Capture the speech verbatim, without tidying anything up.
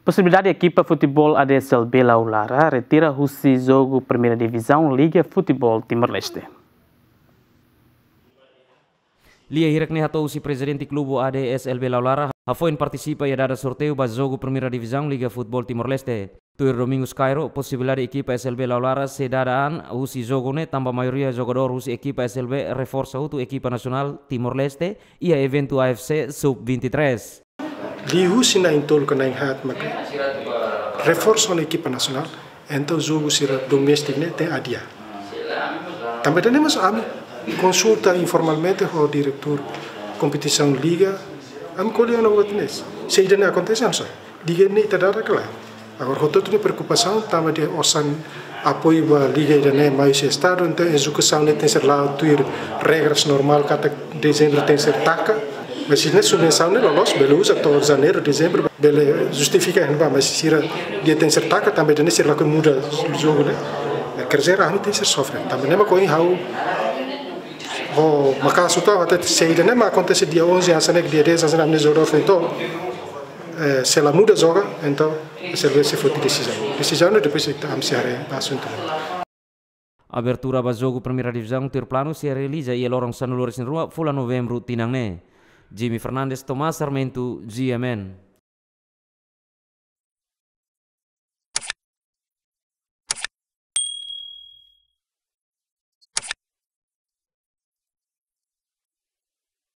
Posibilidade ekipa futeból A D S L B Laulara retira husi jogu Primeira Divizaun Liga Futeból Timor-Leste. Lia hirak ne'e hato'o husi prezidente klube A D S L B Laulara, hafoin partisipa iha dada sorteiu ba jogu Primeira Divizaun Liga Futeból Timor-Leste. Tuir Domingos Cairo, posibilidade ekipa S L B Laulara sei dada an husi jogu ne'e tanba maioria jogadór husi ekipa S L B reforsa hotu ekipa nasionál Timor-Leste iha eventu A F C Sub vinte e três. Liuhusi na'in-tolu ka na'in-haat maka reforsa ona ekipa nasionál, entaun jogu sira doméstika ne'e tenke adia. Tanba ida-ne'e mós ami konsulta informalmente ho diretór kompetisaun liga, ami ko'alia ona buat ne'e. Se ida-ne'e akontese, ami sai. Liga ne'e ita dada kala. Agora, hotu-hotu nia preokupasaun tanba nia osan apoiu ba liga ida-ne'e mai husi estadu, entaun ezekusaun ne'e tenke ser la'o tuir regras normál katak dezembru tenke ser taka. Mas se ne'e subvensaun ne'e loloos, bele uza to'o janeiru, dezembru, bele justifika iha ne'ebá, mas sira dehan tenke ser taka, tanba ida-ne'e sira lakohi muda jogu ne'e. Quer dizer, ami tenke ser sofre. Tanba ne'e mak ohin ha'u ho maka'as hotu ha'u hatete, se ida-ne'e mak akontese dia onze hanesan ne'e, dia dez hanesan ne'e, ami-nia jogadór foin to'o, eh, sei la muda joga, entaun S L B sei foti desizaun. Desizaun ne'e depois ita, ami sei haree ba asuntu ne'e. Abertura ba jogu Primeira Divizaun tuir planu sei realiza iha loron sanulu-resin-rua fulan Novembru tinan ne'e. Jimmy Fernandes, Tomás Sarmento, G M N.